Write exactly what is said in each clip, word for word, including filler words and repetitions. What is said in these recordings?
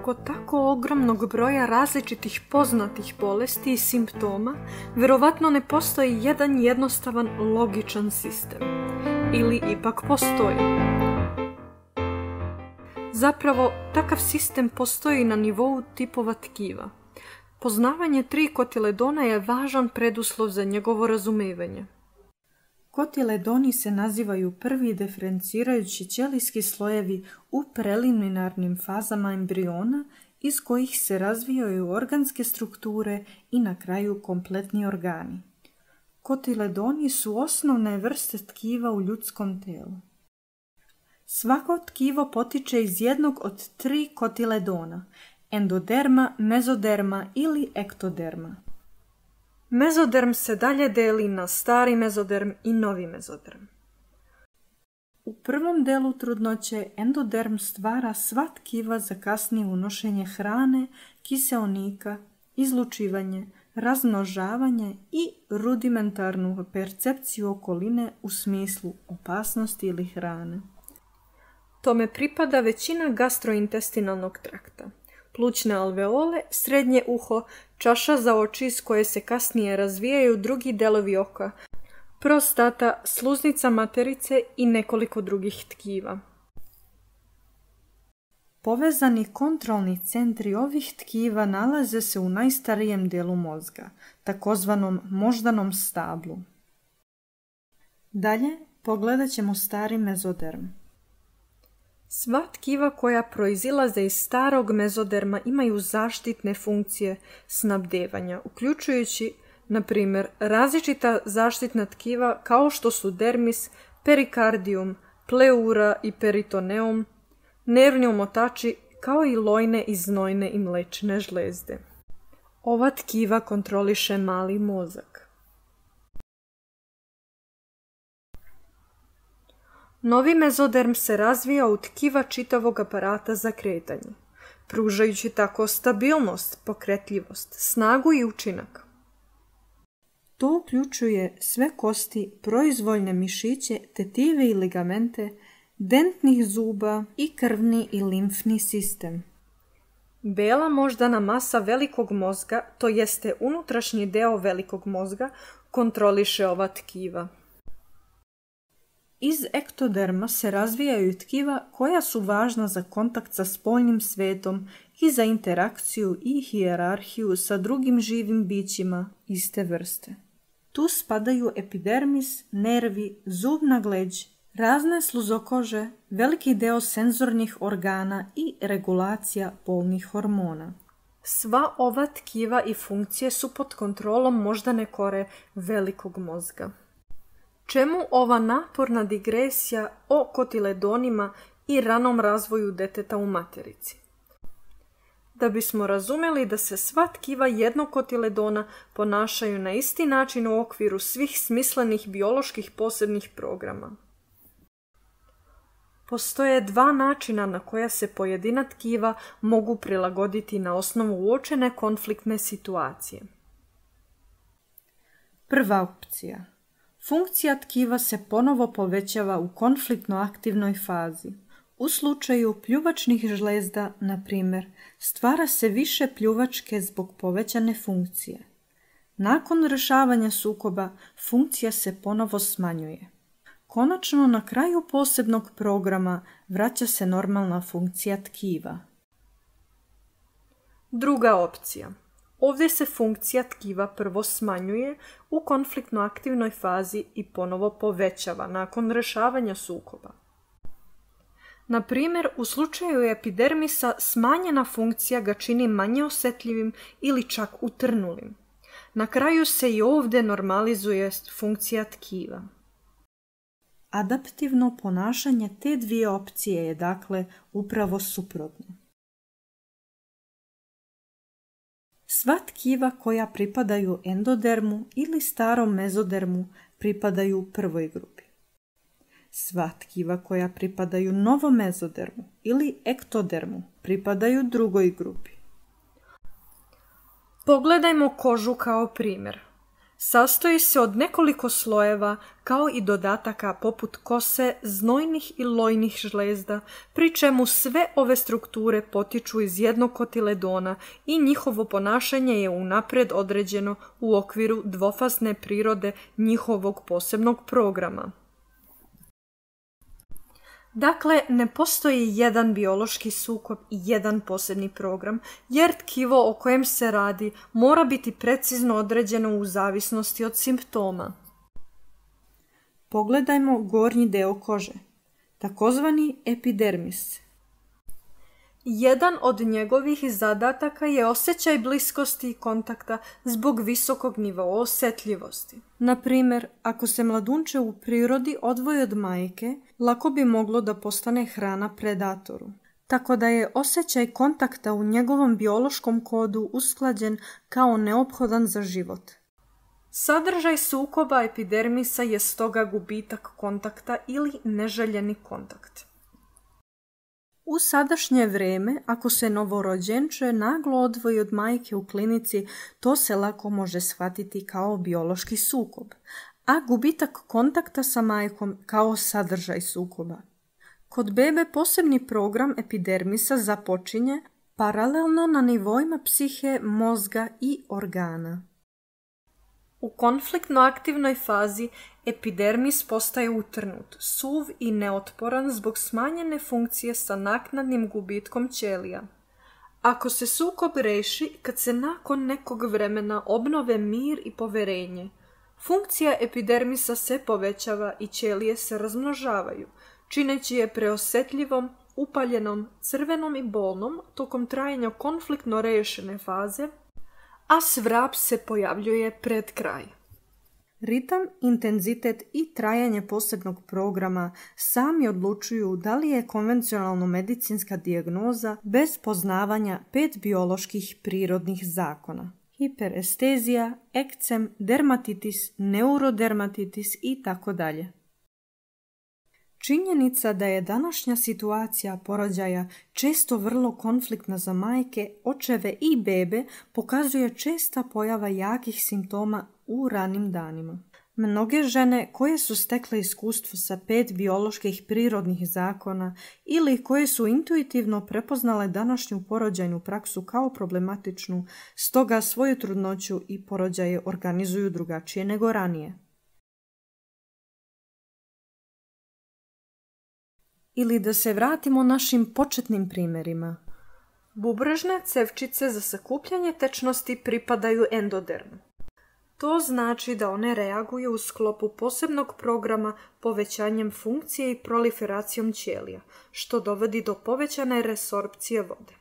kod tako ogromnog broja različitih poznatih bolesti i simptoma, vjerovatno ne postoji jedan jednostavan logičan sistem. Ili ipak postoji. Zapravo, takav sistem postoji na nivou tipova tkiva. Poznavanje trikotiledona je važan preduslov za njegovo razumijevanje. Kotiledoni se nazivaju prvi diferencirajući ćelijski slojevi u preliminarnim fazama embriona iz kojih se razvijaju organske strukture i na kraju kompletni organi. Kotiledoni su osnovne vrste tkiva u ljudskom tijelu. Svako tkivo potiče iz jednog od tri kotiledona, endoderma, mezoderma ili ektoderma. Mezoderm se dalje deli na stari mezoderm i novi mezoderm. U prvom delu trudnoće endoderm stvara sva tkiva za kasnije unošenje hrane, kiseonika, izlučivanje, razmnožavanje i rudimentarnu percepciju okoline u smislu opasnosti ili hrane. Tome pripada većina gastrointestinalnog trakta. Plućne alveole, srednje uho, čaša za oči iz koje se kasnije razvijaju drugi delovi oka, prostata, sluznica materice i nekoliko drugih tkiva. Povezani kontrolni centri ovih tkiva nalaze se u najstarijem dijelu mozga, takozvanom moždanom stablu. Dalje pogledat ćemo stari mezoderm. Sva tkiva koja proizilaze iz starog mezoderma imaju zaštitne funkcije snabdevanja, uključujući, na primjer, različita zaštitna tkiva kao što su dermis, perikardijum, pleura i peritoneum, nervni omotači kao i lojne i znojne i mlečne žlezde. Ova tkiva kontroliše mali mozak. Novi mezoderm se razvija u tkiva čitavog aparata za kretanje, pružajući tako stabilnost, pokretljivost, snagu i učinak. To uključuje sve kosti, proizvoljne mišiće, tetive i ligamente, dentnih zuba i krvni i limfni sistem. Bela moždana masa velikog mozga, to jeste unutrašnji deo velikog mozga, kontroliše ova tkiva. Iz ektoderma se razvijaju tkiva koja su važna za kontakt sa spoljnim svetom i za interakciju i hijerarhiju sa drugim živim bićima iste vrste. Tu spadaju epidermis, nervi, zubna gleđ, razne sluzokože, veliki deo senzornih organa i regulacija polnih hormona. Sva ova tkiva i funkcije su pod kontrolom moždane kore velikog mozga. Čemu ova naporna digresija o kotiledonima i ranom razvoju deteta u materici? Da bismo razumjeli da se sva tkiva jednog kotiledona ponašaju na isti način u okviru svih smislenih bioloških posebnih programa. Postoje dva načina na koja se pojedina tkiva mogu prilagoditi na osnovu uočene konfliktne situacije. Prva opcija. Funkcija tkiva se ponovo povećava u konfliktno aktivnoj fazi. U slučaju pljuvačnih žlezda, na primjer, stvara se više pljuvačke zbog povećane funkcije. Nakon rješavanja sukoba, funkcija se ponovo smanjuje. Konačno, na kraju posebnog programa vraća se normalna funkcija tkiva. Druga opcija. Ovdje se funkcija tkiva prvo smanjuje u konfliktno aktivnoj fazi i ponovo povećava nakon rješavanja sukoba. Na primjer, u slučaju epidermisa smanjena funkcija ga čini manje osjetljivim ili čak utrnulim. Na kraju se i ovdje normalizuje funkcija tkiva. Adaptivno ponašanje te dvije opcije je dakle upravo suprotno. Sva tkiva koja pripadaju endodermu ili starom mezodermu pripadaju prvoj grupi. Sva tkiva koja pripadaju novom mezodermu ili ektodermu pripadaju drugoj grupi. Pogledajmo kožu kao primjer. Sastoji se od nekoliko slojeva, kao i dodataka poput kose, znojnih i lojnih žlezda, pri čemu sve ove strukture potiču iz jednog kotiledona i njihovo ponašanje je unaprijed određeno u okviru dvofazne prirode njihovog posebnog programa. Dakle, ne postoji jedan biološki sukob i jedan posebni program, jer tkivo o kojem se radi mora biti precizno određeno u zavisnosti od simptoma. Pogledajmo gornji deo kože, takozvani epidermis. Jedan od njegovih zadataka je osjećaj bliskosti i kontakta zbog visokog nivoa osjetljivosti. Na primjer, ako se mladunče u prirodi odvoji od majke, lako bi moglo da postane hrana predatoru. Tako da je osjećaj kontakta u njegovom biološkom kodu usklađen kao neophodan za život. Sadržaj sukoba epidermisa je stoga gubitak kontakta ili neželjeni kontakt. U sadašnje vrijeme, ako se novorođenče naglo odvoji od majke u klinici, to se lako može shvatiti kao biološki sukob, a gubitak kontakta sa majkom kao sadržaj sukoba. Kod bebe posebni program epidermisa započinje paralelno na nivoima psihe, mozga i organa. U konfliktno aktivnoj fazi epidermis postaje utrnut, suv i neotporan zbog smanjene funkcije sa naknadnim gubitkom ćelija. Ako se sukob reši kad se nakon nekog vremena obnove mir i poverenje, funkcija epidermisa se povećava i ćelije se razmnožavaju, čineći je preosjetljivom, upaljenom, crvenom i bolnom tokom trajanja konfliktno rešene faze, a svrap se pojavljuje pred kraj. Ritam, intenzitet i trajanje posebnog programa sami odlučuju da li je konvencionalno medicinska dijagnoza bez poznavanja pet bioloških prirodnih zakona. Hiperestezija, ekcem, dermatitis, neurodermatitis i tako dalje. Činjenica da je današnja situacija porođaja često vrlo konfliktna za majke, očeve i bebe pokazuje česta pojava jakih simptoma u ranim danima. Mnoge žene koje su stekle iskustvo sa pet bioloških prirodnih zakona ili koje su intuitivno prepoznale današnju porođajnu praksu kao problematičnu, stoga svoju trudnoću i porođaje organizuju drugačije nego ranije. Ili da se vratimo našim početnim primjerima. Bubrežne cevčice za sakupljanje tečnosti pripadaju endodermu. To znači da one reaguju u sklopu posebnog programa povećanjem funkcije i proliferacijom ćelija, što dovodi do povećane resorpcije vode.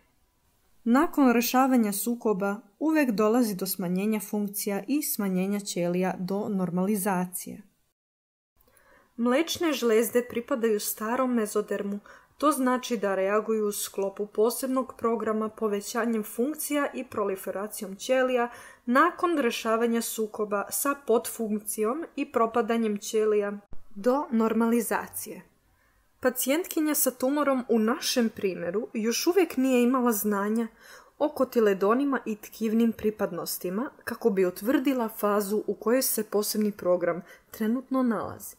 Nakon rešavanja sukoba uvek dolazi do smanjenja funkcija i smanjenja ćelija do normalizacije. Mlečne žlezde pripadaju starom mezodermu, to znači da reaguju u sklopu posebnog programa povećanjem funkcija i proliferacijom ćelija nakon rešavanja sukoba sa podfunkcijom i propadanjem ćelija do normalizacije. Pacijentkinja sa tumorom u našem primjeru još uvijek nije imala znanja o kotiledonima i tkivnim pripadnostima kako bi utvrdila fazu u kojoj se posebni program trenutno nalazi.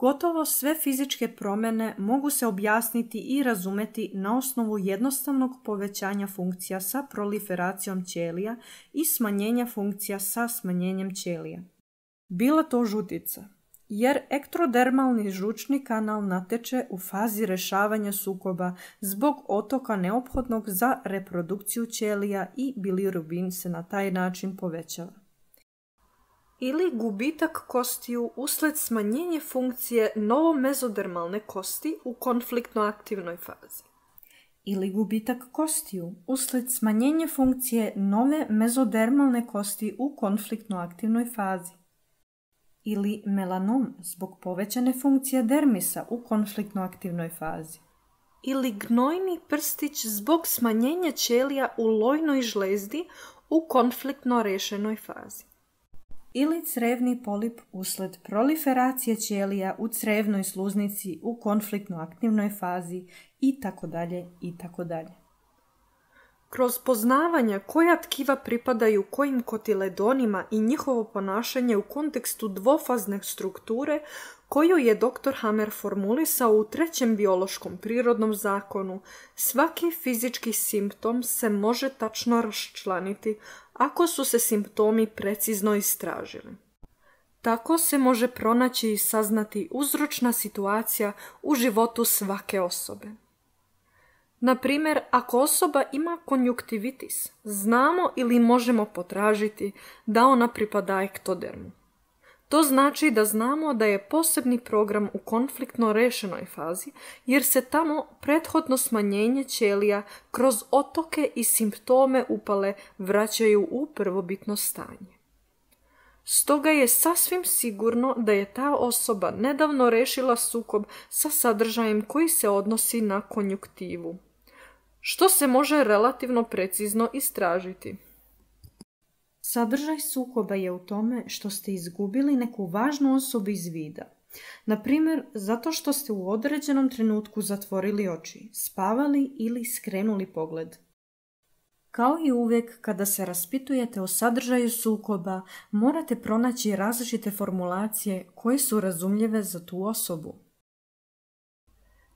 Gotovo sve fizičke promjene mogu se objasniti i razumeti na osnovu jednostavnog povećanja funkcija sa proliferacijom ćelija i smanjenja funkcija sa smanjenjem ćelija. Bila to žutica, jer ektrodermalni žučni kanal nateče u fazi rešavanja sukoba zbog otoka neophodnog za reprodukciju ćelija i bilirubin se na taj način povećava. Ili gubitak kostiju usled smanjenja funkcije novomezodermalne kosti u konfliktno aktivnoj fazi. Ili gubitak kostiju usled smanjenja funkcije nove mezodermalne kosti u konfliktno aktivnoj fazi. Ili melanom zbog povećane funkcije dermisa u konfliktno aktivnoj fazi. Ili gnojni prstić zbog smanjenja ćelija u lojnoj žlezdi u konfliktno rešenoj fazi. Ili crevni polip usled proliferacije ćelija u crevnoj sluznici u konfliktno aktivnoj fazi i tako dalje i tako dalje. Kroz poznavanje koja tkiva pripadaju kojim kotiledonima i njihovo ponašanje u kontekstu dvofazne strukture koju je doktor Hammer formulisao u trećem biološkom prirodnom zakonu, svaki fizički simptom se može tačno raščlaniti ako su se simptomi precizno istražili. Tako se može pronaći i saznati uzročna situacija u životu svake osobe. Na primjer, ako osoba ima konjuktivitis, znamo ili možemo potražiti da ona pripada ektodermu. To znači da znamo da je posebni program u konfliktno rešenoj fazi, jer se tamo prethodno smanjenje ćelija kroz otoke i simptome upale vraćaju u prvobitno stanje. Stoga je sasvim sigurno da je ta osoba nedavno rešila sukob sa sadržajem koji se odnosi na konjuktivu, što se može relativno precizno istražiti. Sadržaj sukoba je u tome što ste izgubili neku važnu osobu iz vida. Na primjer, zato što ste u određenom trenutku zatvorili oči, spavali ili skrenuli pogled. Kao i uvijek kada se raspitujete o sadržaju sukoba, morate pronaći različite formulacije koje su razumljive za tu osobu.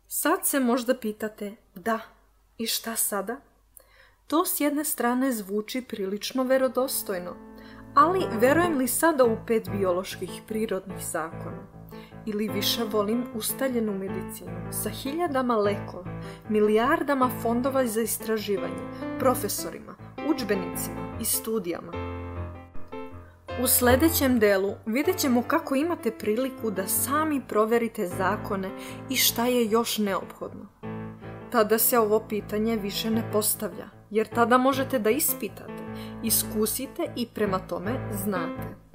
Sad se možda pitate, da, i šta sada? To s jedne strane zvuči prilično verodostojno, ali verujem li sada u pet bioloških prirodnih zakona? Ili više volim ustaljenu medicinu sa hiljadama lekova, milijardama fondova za istraživanje, profesorima, udžbenicima i studijama? U sljedećem delu vidjet ćemo kako imate priliku da sami proverite zakone i šta je još neophodno. Tada se ovo pitanje više ne postavlja, jer tada možete da ispitate, iskusite i prema tome znate.